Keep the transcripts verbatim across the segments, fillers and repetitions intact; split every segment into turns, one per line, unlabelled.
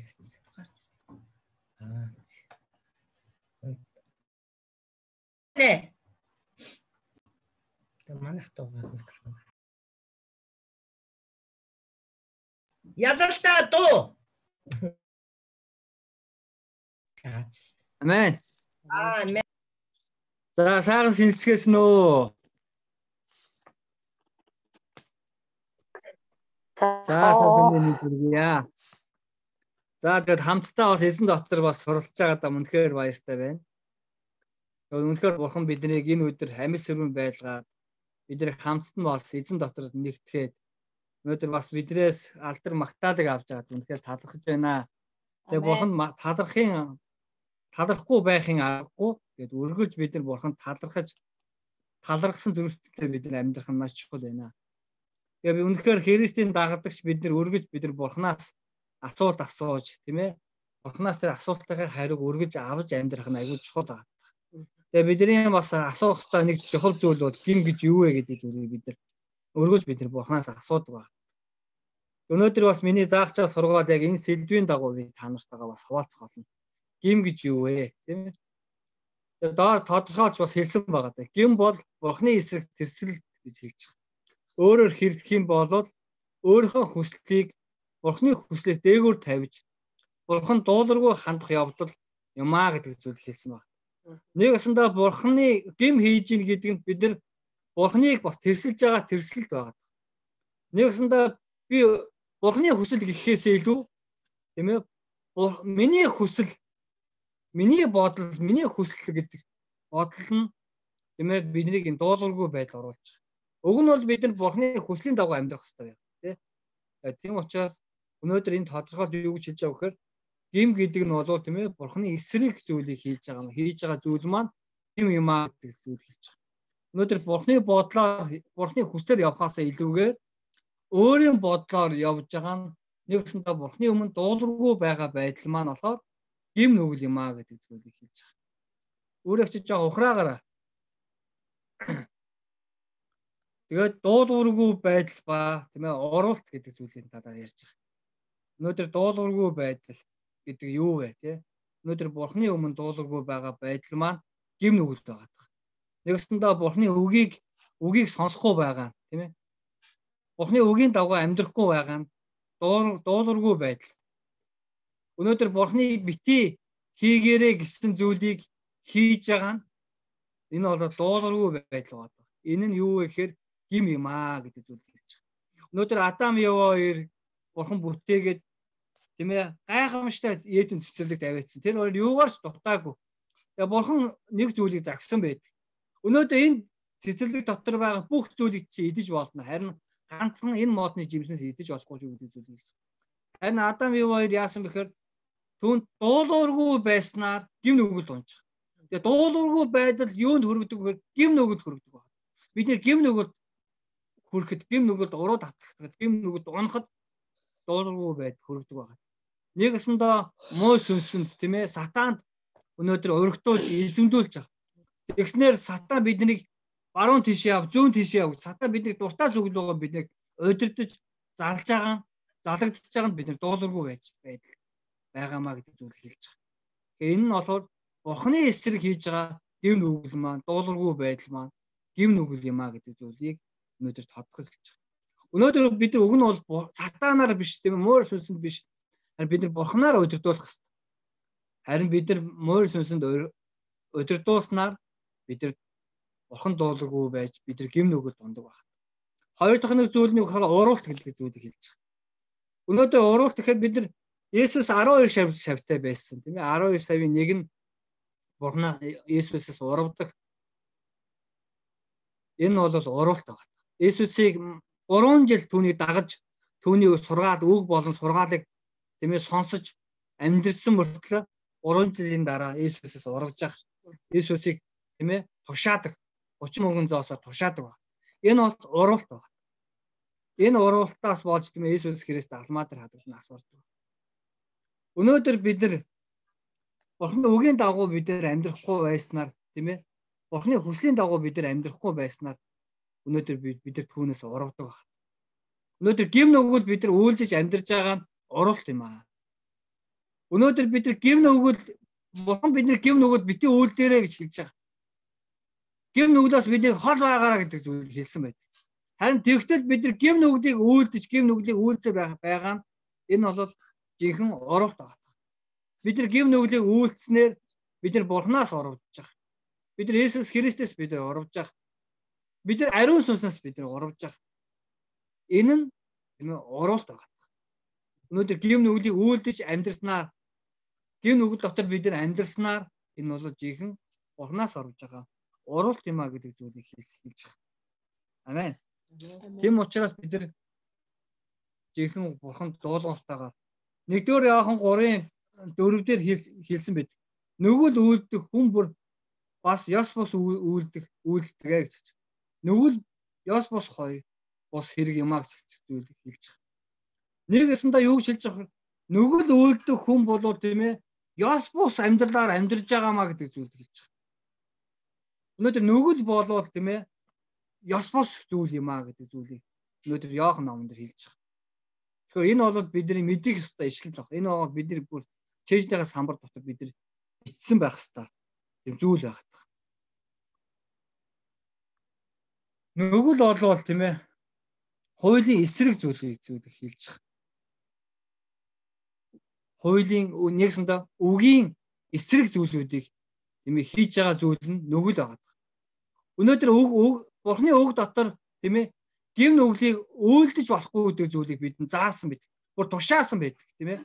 гарцсан. Аа. Нэ. Тэг манайх дуугаар микрофон. Ядалтаа дуу.
Амен.
Амен.
За сайхан сэлцгээс нөө. За сайхан нэг үргийа. За тэгэд хамтдаа бас эзэн дотор бас суралцж байгаа даа үнэхээр баяртай байна. Үнэхээр бурхан биднийг энэ өдөр амьд сүрэн байлгаад биднийг хамтд нь бас эзэн дотор нэгтгэхэд өнөөдөр бас бидрээс алдар магтаалыг авч байгаа үнэхээр талархаж байна. Тэгээ бурхан талархын талархгүй байхын аргагүй тэгээд үргэлж бид нар бурханд талархаж талархсан зүйлсээр бид нар амьдрах нь маш чухал байна. Тэгээ би үнэхээр Христийн дагагдагч бид нар үргэлж бид нар бурханаас асуулт асууж тийм ээ бурханаас тэр асуултын хариуг үргэлж авч амьдрах нь аюул чухал байна. Тэгээ бидний бас асуух ёстой нэг чухал зүйл бол гин гэж юу вэ гэдэг зүйлийг бид нар өргөж бид нар бурханаас асуудаг байна. Өнөөдөр бас миний заагчаар сургаад яг энэ сэдвийн дагуу би та нартайгаа бас хуваалцах болно. Гим гэж юу вэ? Тийм ээ. Тэгээ доор тодорхойлж бас хэлсэн байгаа даа. Гим бол бурхны эсрэг тэрсэл гэж хэлж байгаа. Өөрөөр хэлэх юм бол өөрийнхөө хүслийг бурхны хүслээс дээгүүр тавьж бурхан дуулуургүй хандах явдал юмаа гэдэг зүйл хэлсэн байна. Нэг өсөндөө бурхны гим хийж ийн гэдэг нь бид нар бурхныг бас тэрсэлж байгаа тэрсэлт байгаа. Нэг өсөндөө би бурхны хүсэл гэхээс илүү тийм ээ миний хүсэл миний бодол миний хүсэл гэдэг бодол нь тийм ээ биднийг энэ дуулуургүй байдал оруулж байгаа. Уг нь бол бид нар бурхны хүслийн дагуу амьдрах хэрэгтэй байна тийм. Тийм учраас өнөөдөр энэ тодорхойлт юу гэж хэлж байгаа вэхээр гим гэдэг нь бол тийм ээ бурхны эсрэг зүйлийг хийж байгаа юм. Хийж байгаа зүйл маань гим юм аа гэдэг зүйл хэлж байгаа. Өнөөдөр бурхны бодлоор бурхны хүслээр явхаасаа илүүгээр өөрийн бодлоор явж байгаа нь нэгсэндээ бурхны өмнө дуулуургүй байгаа байдал маань болохоор гим нүгэл юм аа гэдэг зүйлийг хэлж байгаа. Өөрөө ч жоо ухраагаараа. Тэгээд дуулуургүй байдал ба тийм ээ оруулалт гэдэг зүйлийн талаар ярьж байгаа. Өнөөдөр дуулуургүй байдал гэдэг юу вэ тий? Өнөөдөр бурхны өмнө дуулуургүй байгаа байдал маань гим нүгэл байгаа. Нэгсэндээ бурхны үгийг үгийг сонсохгүй байгаа тийм ээ. Бурхны үгийн дагуу амьдрахгүй байгаа нь дуулуургүй байдал. Өнөөдөр бурхны бити хийгээрэй гэсэн зүйлийг хийж байгаа нь энэ бол дуулуургүй байдал байна. Энэ нь юу вэ гэхээр гим юм аа гэдэг зүйл хэлж байгаа. Өнөөдөр Адам Ева хоёр бурхан бүтээгээд тийм ээ гайхамшигтай Эден цэцэрлэгт аваадсан. Тэр хоёр юугаар ч дутаагүй. Тэгээ бурхан нэг зүйлийг загсан байдаг. Өнөөдөр энэ цэцэрлэг дотор байгаа бүх зүйлийг чи идэж болно. Харин ганцхан энэ модны жимснээс идэж болохгүй шүү гэдэг зүйл хэлсэн. Харин Адам Ева хоёр яасан бэхээр түүнд дуулуургүй байснаар гим нүгэл унж байгаа. Тэгээ дуулуургүй байдал юунд хүргэдэг вэ? Гим нүгэлд хүргэдэг байна. Бид нэр гим нүгэлд хүрэхэд гим нүгэлд уруу татахад гим нүгэлд унахад дуулуургүй байдал хүргэдэг байна. Нэгэсэндээ муу сүнсэнд тийм ээ сатаанд өнөөдөр өргөдүүлж эзэмдүүлж байгаа. Тэгснээр сатан биднийг баруун тийш яв, зүүн тийш яв. Сатан биднийг дуртай зүглөөгөө биднийг удирдах, залж байгаа, залагдчихж байгаа нь бид нар дуулуургүй байж байдал байгаамаа гэдэг зүйл хэлж байгаа. Тэгэхээр энэ нь болохоор бурхны эсрэг хийж байгаа гим нүгэл маань, дуулуургүй байдал маань гим нүгэл юм аа гэдэг зүйлийг өнөөдөр тодорхойлж байгаа. Өнөөдөр бид нар уг нь бол сатанаар биш тийм муур сүнсэнд биш. Харин бид нар бурхнаар удирдуулах хэрэгтэй. Харин бид нар муур сүнсэнд удирдуулснаар бид нар бурхан дуулуургүй байж бид нар гим нүгэл дундаг байна. Хоёр дахь нэг зүйл нь уруулт гэдэг зүйлийг хэлж байгаа. Өнөөдөр уруулт гэхээр бид нар Есүс арван хоёр савтай байсан тийм ээ. арван хоёр савын нэг нь бурхнаа Есүсээс урвдаг. Энэ бол уруулт байгаа. Есүсийг гурван жил түүнийг дагаж түүний сургаал үг болон сургаалыг тийм ээ сонсож амьдрсан мөртлөө гурван жилийн дараа Есүсээс урвж байгаа. Есүсийг тийм ээ тушаадаг. гурван мөнгөн зоосоор тушаадаг байна. Энэ бол уруулт байна. Энэ уруултаас болж тийм ээ Есүс Христ алмаа дээр хадгалан асуурдаг. Өнөөдөр бид нар бурхны үгийн дагуу бид нар амьдрахгүй байснаар тийм ээ бурхны хүслийн дагуу бид нар амьдрахгүй байснаар өнөөдөр бид бид нар түүнээс урвдаг байна. Өнөөдөр гим нүгэл бид нар үйлдэж амьдарч байгаа нь уруулт юм аа. Өнөөдөр бид нар гим нүгэл бурхан бидний гим нүгэл бити үйлдээрэй гэж хэлж байгаа. Гим нүглээс бидний хол байгаараа гэдэг зүйл хэлсэн байдаг. Харин тэгтэл бид нар гим нүглийг үйлдэж, гим нүглийг үйлдэж байгаа нь энэ бол жинхэнэ оруулт байна. Бид нар гим нүглийг үйлдснээр бид нар бурхнаас оруулж байгаа. Бид нар Есүс Христэс бид нар оруулж байгаа. Бид нар ариун сүнснээс бид нар оруулж байгаа. Энэ нь тийм ээ оруулт байна. Өнөөдөр гим нүглийг үйлдэж амьдрснаар гим нүгэл дотор бид нар амьдрснаар энэ бол жинхэнэ бурхнаас оруулж байгаа оруулт юм а гэдэг зүйлийг хэлж байгаа. Амен. Тийм учраас бид нар жинхэнэ бурханд дуулууртайгаар нэгдүгээр Иохан гурын дөрөвдөр хэлсэн байд. Нүгэл үйлдэх хүн бүр бас ёс бус үйлдэх үйлддэг гэж. Нүгэл ёс бус хоёр бус хэрэг юм а гэж зүйлийг хэлж байгаа. Нэг өсөндөө юу гэж хэлж байгаа вэ? Нүгэл үйлдэх хүн болов тийм ээ ёс бус амьдралаар амьдарж байгаамаа гэдэг зүйлийг хэлж байгаа. Өнөөдөр нүгэл болвол тийм ээ ёс бус зүйл юм а гэдэг зүйлийг өнөөдөр Иохан номон дээр хэлж байгаа. Тэгэхээр энэ бол бидний мэдих ёстой ишлэл баг. Энэ бол бидний бүр чэйжнийхээ самбар дотор бид нар бичсэн байх ёстой тийм зүйл байгаад байна. Нүгэл болвол тийм ээ хуулийн эсрэг зүйлийг зүйлийг хэлж байгаа. Хуулийн нэгсэндээ үгийн эсрэг зүйлүүдийг тийм ээ хийж байгаа зүйл нь нүгэл байгаа. Өнөөдөр үг бурхны үг дотор тийм ээ гим нүглийг үйлдэж болохгүй гэдэг зүйлийг бидэнд заасан байдаг. Бүр тушаасан байдаг тийм ээ.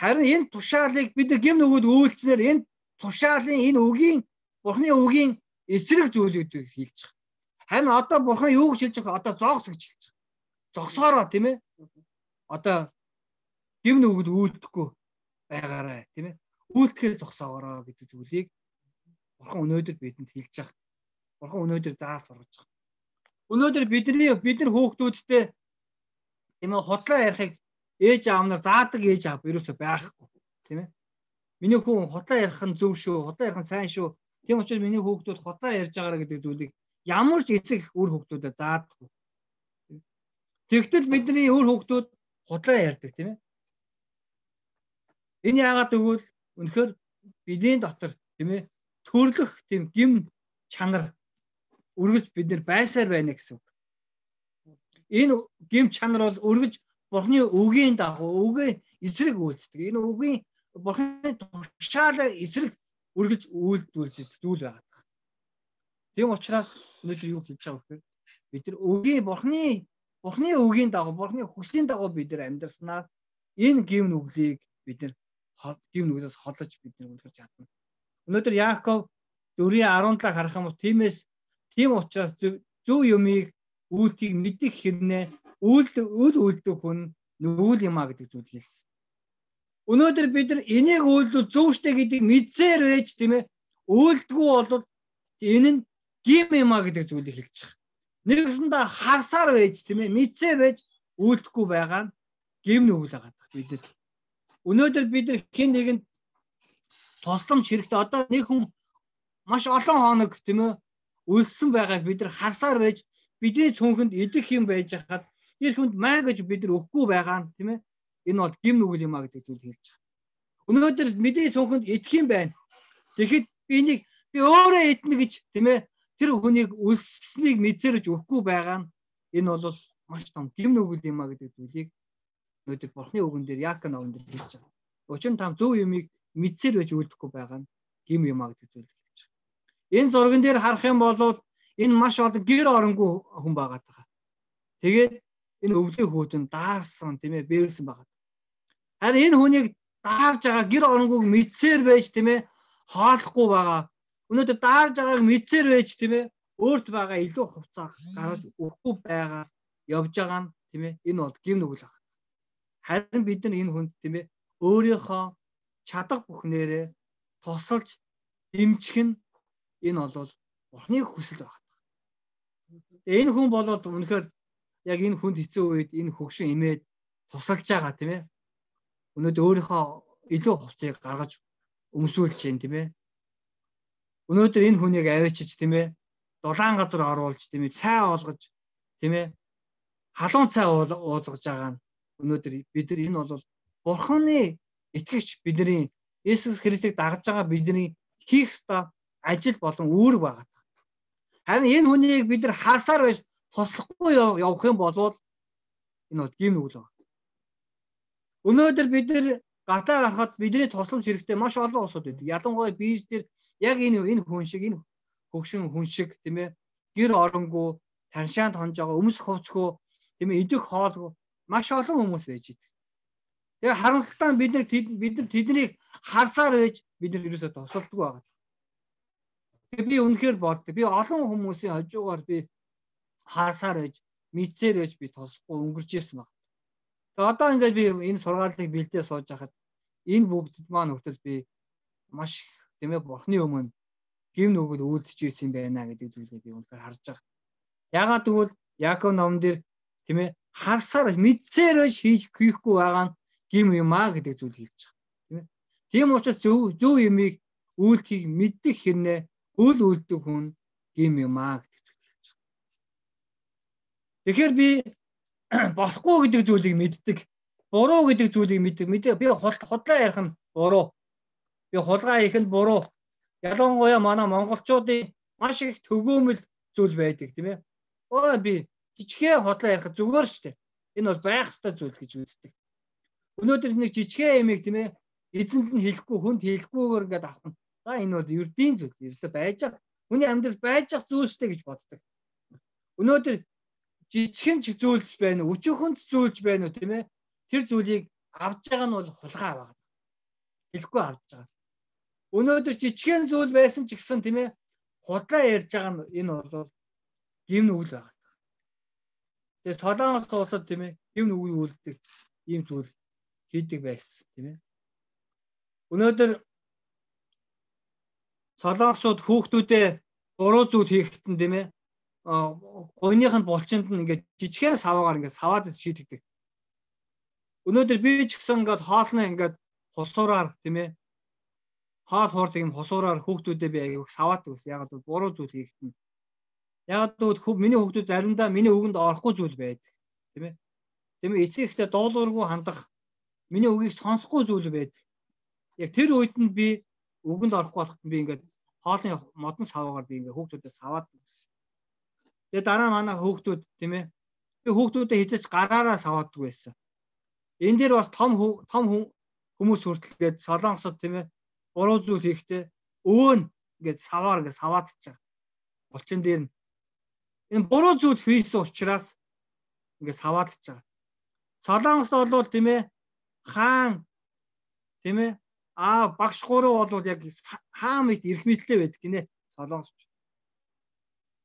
Харин энэ тушаалыг бид нар гим нүгэл үйлчлснээр энэ тушаалын энэ үгийн бурхны үгийн эсрэг зүйлүүдийг хэлж байгаа. Харин одоо бурхан юу гэж хэлж байгаа? Одоо зогс гэж хэлж байгаа. Зогсоороо тийм ээ. Одоо гим нүгэл үйлдэхгүй байгаарай тийм ээ. Үйлдэхээ зогсоороо гэдэг зүйлийг бурхан өнөөдөр бидэнд хэлж байгаа. Бурхан өнөөдөр заас сургаж байгаа. Өнөөдөр бидний бид нар хүүхдүүдтэй тийм ээ худлаа ярихыг ээж аав нар заадаг ээж аав ерөөсөй байхгүй тийм ээ. Миний хүн худлаа ярих нь зөв шүү, худлаа ярих нь сайн шүү. Тийм учраас миний хүүхдүүд худлаа ярьж байгаараа гэдэг зүйлийг ямар ч эцэг үр хүүхдүүдэд заадаггүй. Тэгтэл бидний үр хүүхдүүд худлаа ярьдаг тийм ээ. Энэ яагаад гэвэл үнэхээр бидний дотор тийм ээ төрлөх тийм гим чанар үргэлж бид нар байсаар байна гэсэн үг. Энэ гим чанар бол үргэлж бурхны үгийн дагуу үгийн эсрэг үйлддэг. Энэ үгийн бурхны тушаалаа эсрэг үргэлж үйлдүүлж зүйл байгаа. Тийм учраас өнөөдөр юу хийж байгаа вэ? Бид нар үгийн бурхны бурхны үгийн дагуу бурхны хүслийн дагуу бид нар амьдарснаар энэ гим нүглийг бид нар гим нүглээс холож бид нар үлгэрч чадна. Өнөөдөр Яаков дөрвийн арван талыг харах юм бол тиймээс тийм учраас зөв юмыг үйлдэх мэдих хэрнээ үйлдэл үйл үйлдэх хүн нүгэл юм а гэдэг зүйл хэлсэн. Өнөөдөр бид нар энийг үйлдэл зөв штэ гэдгийг мэдсээр байж тийм ээ үйлдэлгүй бол энэ нь гим юм а гэдэг зүйлийг хэлж байгаа. Нэгсэндээ харсаар байж тийм ээ мэдсээр байж үйлдэхгүй байгаа нь гим нүгэл байгаа бид нар. Өнөөдөр бид нар хэн нэгэнд тусламж хэрэгтэй одоо нэг хүн маш олон хоног тийм ээ үлссэн байгааг бид нар харсаар байж бидний цөөнхөнд идэх юм байж хахад тэр хүнд маа гэж бид нар өгөхгүй байгаа нь тийм ээ энэ бол гим нүгэл юм а гэдэг зүйл хэлж байгаа. Өнөөдөр бидний цөөнхөнд идэх юм байна. Тэгэхэд би энийг би өөрөө идэнэ гэж тийм ээ тэр хүнийг үлсснийг мэдсэрэж өгөхгүй байгаа нь энэ бол маш том гим нүгэл юм а гэдэг зүйлийг өнөөдөр бурхны үгэн дээр Яаков номон дээр хэлж байгаа. Учир нь там зөв юмыг мэдсээр байж үлдэхгүй байгаа нь гим юм а гэдэг зүйл хэлж байгаа. Энэ зурган дээр харах юм бол энэ маш олон гэр оронгүй хүн байгаа таа. Тэгээд энэ өвлийн хүүдэн даарсан тийм ээ бэрсэн байгаа. Харин энэ хүнийг даарж байгаа гэр оронгүйг мэдсээр байж тийм ээ хоолохгүй байгаа. Өнөөдөр даарж байгааг мэдсээр байж тийм ээ өөрт байгаа илүү хувцас гаргаж өгөхгүй байгаа явж байгаа нь тийм ээ энэ бол гим нүгэл байна. Харин бид нар энэ хүнд тийм ээ өөрийнхөө чадах бүхнээрээ тусалж дэмжих нь энэ бол бурхны хүсэл байна. Энэ хүн болоод үнэхээр яг энэ хүнд хэцүү үед энэ хөгшин имээд тусалж байгаа тийм ээ. Өнөөдөр өөрийнхөө илүү хувцсыг гаргаж өмсүүлж чинь тийм ээ. Өнөөдөр энэ хүнийг авчиж тийм ээ дулаан газар оруулж тийм ээ цай олгож тийм ээ халуун цай уулгаж байгаа нь өнөөдөр бид нар энэ бол бурхны итгэгч бидний Есүс Христийг дагаж байгаа бидний хийх ёстой ажил болон үүрэг байгаа. Харин энэ хүнийг бид нар харсаар байж туслахгүй явах юм бол энэ бол гим нүгэл байна. Өнөөдөр бид нар гатаа гарахад бидний тусламж хэрэгтэй маш олон улсууд байдаг. Ялангуяа бийж дээр яг энэ энэ хүн шиг энэ хөгшин хүн шиг тийм ээ гэр оронгүй таншаанд хонж байгаа өмс хувцгүй тийм ээ идэх хоолгүй маш олон хүмүүс байж идэг. Тэгээ харамсалтай бид нар бид нар тэднийг харсаар байж бид нар ерөөсөө тусалдаггүй байгаа. Тэгээ би үнэхээр болдог. Би олон хүмүүсийн хажуугаар би харсаар байж мэдсээр байж би туслахгүй өнгөрч ирсэн баг. Тэгээ одоо ингээд би энэ сургаалыг бэлдээ сууж хахад энэ бүгд маань хүртэл би маш тийм ээ бурхны өмнө гим нүгэл үүлдэж ирсэн байна гэдэг зүйлийг би үнэхээр харж байгаа. Ягаад гэвэл Яаков номон дээр тийм ээ харсаар мэдсээр байж хийж хийхгүй байгаа нь гим юм аа гэдэг зүйл хэлж байгаа. Тийм ээ. Тийм учраас зөв зөв юмыг үйлдэх мэддэг хэрнээ үйл үлддэг хүн гим юм аа гэдэг зүйл хэлж байгаа. Тэгэхээр би болохгүй гэдэг зүйлийг мэддэг, буруу гэдэг зүйлийг мэддэг. Мэдээ би худлаа ярих нь буруу. Би хулгай хийх нь буруу. Ялангуяа манай монголчуудын маш их төгөөмөл зүйл байдаг тийм ээ. Өө би жижигхэн худлаа ярих зүгээр шүү дээ. Энэ бол байх ёстой зүйл гэж үздэг. Өнөөдөр нэг жижигхэн ямиг тийм ээ эзэнд нь хэлэхгүй хүнд хэлэхгүйгээр ингээд авах нь. За энэ бол ердийн зүйл. Ердөө байж байгаа. Хүний амьдрал байж байгаа зүйл шүү дээ гэж боддог. Өнөөдөр жижигхэн ч зүйлж байна уу, өчүүхэнд зүйлж байна уу тийм ээ. Тэр зүйлийг авж байгаа нь бол хулгай байгаа. Хэлэхгүй авж байгаа. Өнөөдөр жижигхэн зүйл байсан ч гэсэн тийм ээ худлаа ярьж байгаа нь энэ бол гим нүгэл байгаа. Тэгээ Солонгос улсад тийм ээ гим нүгэл үлддэг ийм зүйл хийдэг байсан тийм ээ. Өнөөдөр Солонгосууд хүүхдүүдээ буруу зүйл хийхэд нь тийм ээ гойных нь булчинд нь ингээд жижигхэн саваагаар ингээд саваад шийдэгдэг. Өнөөдөр би ч гэсэн ингээд хоолны ингээд хосуураар тийм ээ хаал хуурдаг юм хосуураар хүүхдүүдээ би аяг саваад гэсэн. Яг л буруу зүйл хийхэд нь. Яг л миний хүүхдүүд заримдаа миний үгэнд орохгүй зүйл байдаг. Тийм ээ. Тийм ээ эцэг ихтэй дуулуургүй хандах миний үгийг сонсохгүй зүйл байдаг. Яг тэр үед нь би үгэнд орохгүй болоход би ингээд хоолны модон саваагаар би ингээд хүүхдүүдээ саваад гэсэн. Тэгээ дараа манай хүүхдүүд тийм ээ би хүүхдүүдээ хизээч гараараа саваадаг байсан. Энэ дээр бас том том хүмүүс хүртэлгээд Солонгосод тийм ээ буруу зүйл хийхдээ өвөн ингээд саваар ингээд саваадчих байгаа. Булчин дээр нь энэ буруу зүйл хийсэн учраас ингээд саваадчих байгаа. Солонгост бол тийм ээ хаан тийм ээ аа багш гурав бол яг хаа мэд эрх мэдэлтэй байдаг гинэ Солонгосч.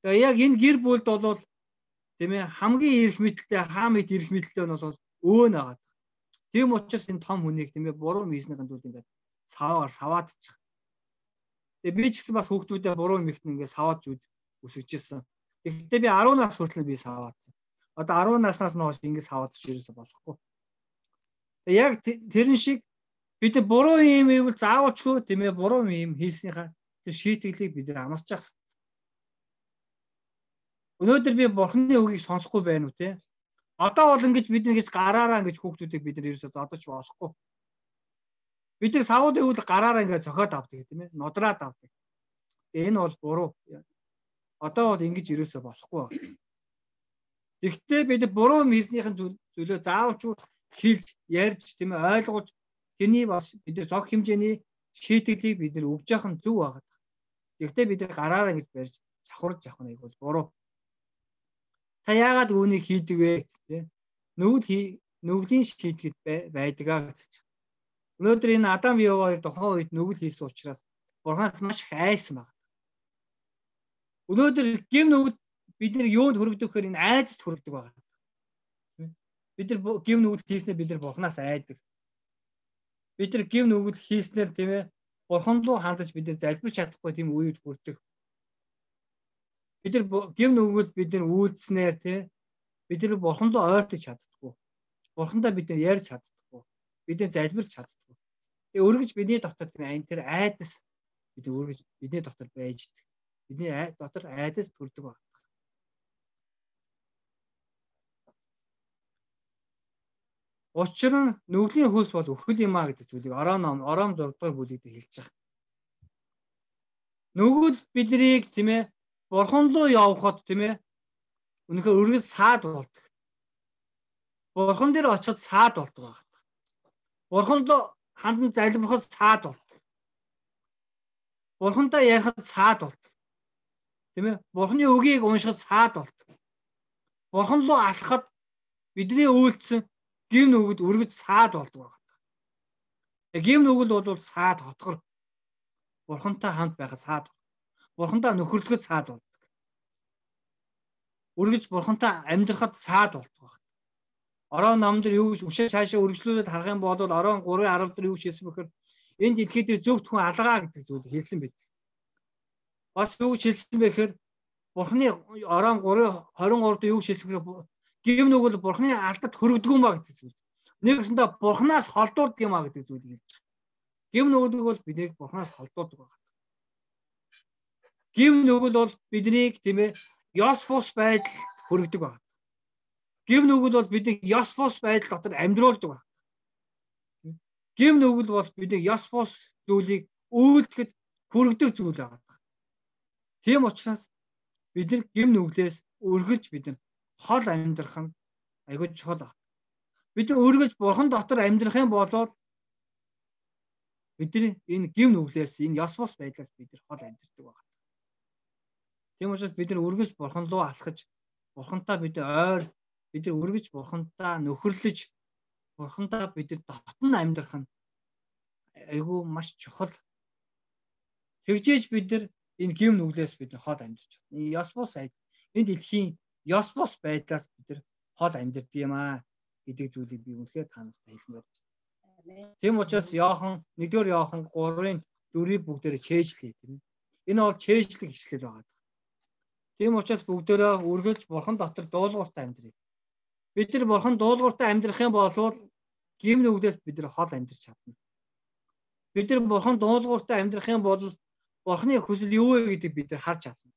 Тэгээ яг энэ гэр бүлд бол тийм ээ хамгийн эрх мэдэлтэй хаа мэд эрх мэдэлтэй нь бол өвөн агаад. Тийм учраас энэ том хүнийг тийм ээ буруу мийснийхэн тулд ингээд саваар саваадчих. Тэгээ би ч гэсэн бас хүүхдүүдээ буруу мэгтэн ингээд саваад үсгэж ирсэн. Тэгэхдээ би арван нас хүртэл би саваадсан. Одоо арван наснаас нь хойш ингээд саваад ирсэн болохгүй. Тэгээ яг тэрэн шиг бид буруу юм ивэл заавалчгүй тийм ээ буруу юм хийснийхаа тэр шийтгэлийг бид нар амсаж явах. Өнөөдөр би бурхны үгийг сонсохгүй байна уу те? Одоо бол ингэж бид нэгж гараараа ингэж хүүхдүүдийг бид нар ерөөсөө зодож болохгүй. Бид нар савууд ивэл гараараа ингэж зохиод авдаг тийм ээ нодраад авдаг. Энэ бол буруу. Одоо бол ингэж ерөөсөө болохгүй байна. Гэхдээ бид буруу хийснийхэн зүйлөө заавалчгүй хэлж ярьж тийм ээ ойлгуулж тэрний бас бид нар зох хэмжээний шийтгэлийг бид нар өгж явах нь зөв байгаа. Гэхдээ бид нар гараараа ингэж барьж завхарж явах нь бол буруу. Та яагаад үүнийг хийдэг вэ гэдэг нүгэл нүглийн шийтгэд байдгаа гэж. Өнөөдөр энэ Адам Ева хоёр тухайн үед нүгэл хийсэн учраас Бурханаас маш их айсан байна. Өнөөдөр гим нүгэл бид нар юунд хүрэгдэх гэхээр энэ айцд хүрэгдэг байна. Бид нар гим нүгэл хийснээр бид нар Бурханаас айдаг. Бид нар гим нүгэл хийснээр тийм ээ Бурхан руу хандаж бид нар залбирч чадахгүй тийм үед хүрдэг. Бид нар гим нүгэл бид нар үйлдснээр тийм бид нар Бурхан руу ойртож чаддаггүй. Бурхандаа бид нар ярьж чаддаггүй. Бид нар залбирч чаддаггүй. Тэгээ өргөж бидний дотор тэр тэр айдас бид өргөж бидний дотор байждаг. Бидний дотор айдас төрдөг байна. Учир нь нүглийн хөлс бол үхэл юм а гэдэг зүйлийг ороо ном ором зураг дахь бүлэгт хэлж байгаа. Нүгэл биднийг тийм ээ бурхан руу явхад тийм ээ үнэхээр үргэлж саад болдог. Бурхан дээр очиод саад болдог байна. Бурхан руу хандан залбирахад саад болдог. Бурхантай ярихад саад болдог. Тийм ээ Бурханы үгийг уншихад саад болдог. Бурхан руу алхахад бидний үйлдэл гим нүгэл үргэлж саад болдог байна. Гим нүгэл бол саад хотгор. Бурхантай хамт байхад саад. Бурхантай нөхөрлөхөд саад болдог. Үргэлж бурхантай амьдрахад саад болдог байна. Орон нам дээр юу гэж үшээ цаашаа үргэлжлүүлээд харах юм бол орон гурван арав дээр юу гэж хэлсэн бэхээр энэ дэлхийд дээр зөвхт хүн алгаа гэдэг зүйлийг хэлсэн байдаг. Бас юу гэж хэлсэн бэхээр бурханы орон гурван хорин гурав дээр юу гэж хэлсэн бэхээр гим нүгэл бурханы алдад хөрөгдөг юм а гэдэг зүйл. Нэгэсэндээ бурханаас холдуулдаг юм а гэдэг зүйлийг хэлж байгаа. Гим нүгэл бол биднийг бурханаас холдуулдаг байна. Гим нүгэл бол биднийг тийм ээ ёс бус байдал хөрөгдөг байна. Гим нүгэл бол биднийг ёс бус байдал дотор амьдруулдаг байна. Гим нүгэл бол биднийг ёс бус зүйлийг үйлдэхэд хүргэдэг зүйл байна. Тийм учраас бид нар гим нүглээс үргэлж бид нар хол амьдрах нь айгүй чухал байна. Бид нар үргэлж бурхан дотор амьдрах юм бол бидний энэ гим нүглээс энэ ёс бус байдлаас бид нар хол амьдрдаг байна. Тийм учраас бид нар үргэлж бурхан руу алхаж бурхантай бид ойр бид нар үргэлж бурхантай нөхөрлөж бурхантай бид нар дотн амьдрах нь айгүй маш чухал. Тэгжээж бид нар энэ гим нүглээс бид нар хол амьдарч байна. Энэ ёс бус айд энэ дэлхийн ёс бус байдлаас бид нар хол амьдардаг юм аа гэдэг зүйлийг би үнэхээр та нартай хэлмээр байна. Тийм учраас Иохан нэгдүгээр Иохан гурвын дөрвийг бүгдээрээ чэйжлээ тийм. Энэ бол чэйжлэг хичлэл байгаа. Тийм учраас бүгдээрээ үргэлж бурхан дотор дуулууртай амьдрыг. Бид нар бурхан дуулууртай амьдрах юм бол гим нүглээс бид нар хол амьдрч чадна. Бид нар бурхан дуулууртай амьдрах юм бол бурханы хүсэл юу вэ гэдгийг бид нар харж чадна.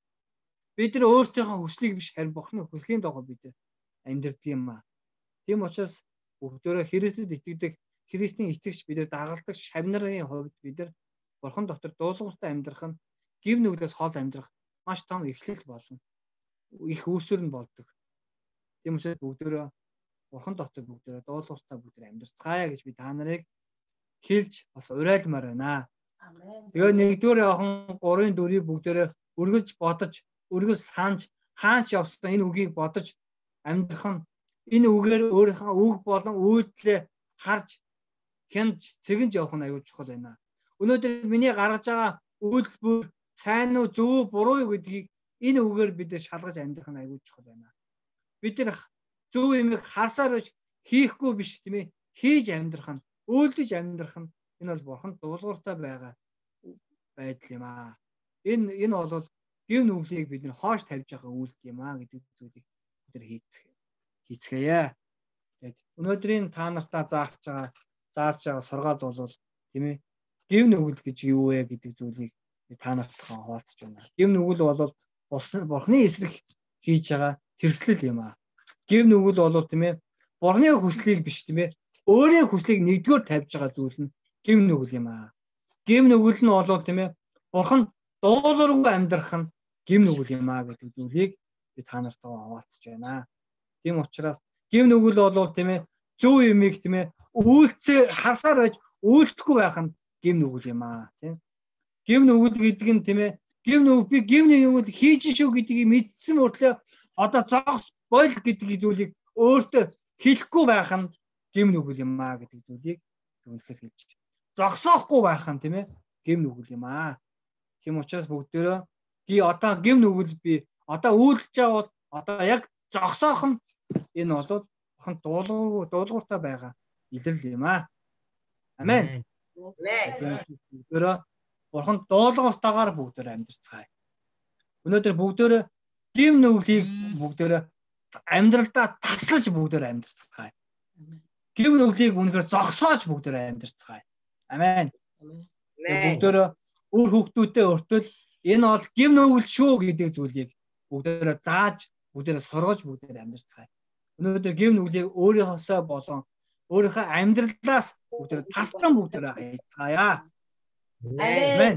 Бид нар өөрсдийнхөө хүслийг биш харин бурханы хүслийн дагуу бид нар амьдрдаг юм аа. Тийм учраас бүгдээрээ Христэд итгэдэг, Христийн итгэгч бид нар дагалдаг шавнарын хувьд бид нар бурхан дотор дуулууртай амьдрах нь гим нүглээс хол амьдрах маш том эхлэл болно. Их үүсвэр нь болдог. Тийм учраас бүгдээрээ бурхан дотор бүгдээрээ дуулууртай бүгдээр амьдарцгаая гэж би та нарыг хэлж бас уриалмаар байна. Тэгээ нэгдүгээр Иохан гурван дөрвийг бүгдээрээ үргэлж бодож, үргэлж санаж, хаач явсан энэ үгийг бодож амьдрах нь энэ үгээр өөрийнхөө үг болон үйлдэлээ харж хянж цэгэнж явах нь аюул чухал байна. Өнөөдөр миний гаргаж байгаа үйлдэл бүр сайн уу зөв үү буруу юу гэдгийг энэ үгээр бид шалгаж амьдрах нь аюул чухал байна. Бид нар зөв юмыг харсаар биш хийхгүй биш тийм ээ хийж амьдрах нь үйлдэж амьдрах нь энэ бол бурхан дуулууртай байгаа байдал юм аа. Энэ энэ бол гим нүглийг бид нар хоош тавьж байгаа үйлдэл юм аа гэдэг зүйлийг бид нар хийцгээе. Хийцгээе. Тэгээд өнөөдрийн та нартаа зааж байгаа зааж байгаа сургаал бол тийм ээ гим нүгэл гэж юу вэ гэдэг зүйлийг та нартаа хуваалцж байна. Гим нүгэл бол бурханы эсрэг хийж байгаа тэрслэл юм аа. Гим нүгэл бол тийм ээ бурханы хүслийг биш тийм ээ өөрийн хүслийг нэгдүгээр тавьж байгаа зүйл нь гим нүгэл юм аа. Гим нүгэл нь бол тийм ээ бурхан дуулуургүй амьдрах нь гим нүгэл юм аа гэдэг зүйлийг би та нартаа хуваалцж байна. Тийм учраас гим нүгэл бол тийм ээ зөв юмыг тийм ээ үйлцээ харсаар байж үйлдэхгүй байх нь гим нүгэл юм аа тийм. Гим нүгэл гэдэг нь тийм ээ гим нүгэл би гим нүгэл хийж шүү гэдгийг мэдсэн мөртлөө одоо зогс бойл гэдэг зүйлийг өөртөө хэлэхгүй байх нь гим нүгэл юм аа гэдэг зүйлийг үнэхээр хэлж байна. Зогсоохгүй байх нь тийм ээ гим нүгэл юм аа. Тийм учраас бүгдээрээ ги одоо гим нүгэл би одоо үйлдэж байгаа бол одоо яг зогсоох нь энэ бол бурхан дуулуур дуулууртай байгаа илэрл юм аа. Амен. Бүгдээрээ бурхан дуулууртайгаар бүгдээрээ амьдарцгаая. Өнөөдөр бүгдээрээ гим нүглийг бүгдээрээ амьдралдаа таслаж бүгдээрээ амьдарцгаая. Гим нүглийг үнэхээр зогсоож бүгдээрээ амьдарцгаая. Амен. Бүгдээрээ үр хүүхдүүдтэй өртөл энэ бол гим нүгэл шүү гэдэг зүйлийг бүгдээрээ зааж, бүгдээрээ сургаж, бүгдээрээ амьдарцгаая. Өнөөдөр гим нүглийг өөрийнхоосоо болон өөрийнхөө амьдралаас бүгд тасран бүгд хайцгаая.
Амен.
Амен.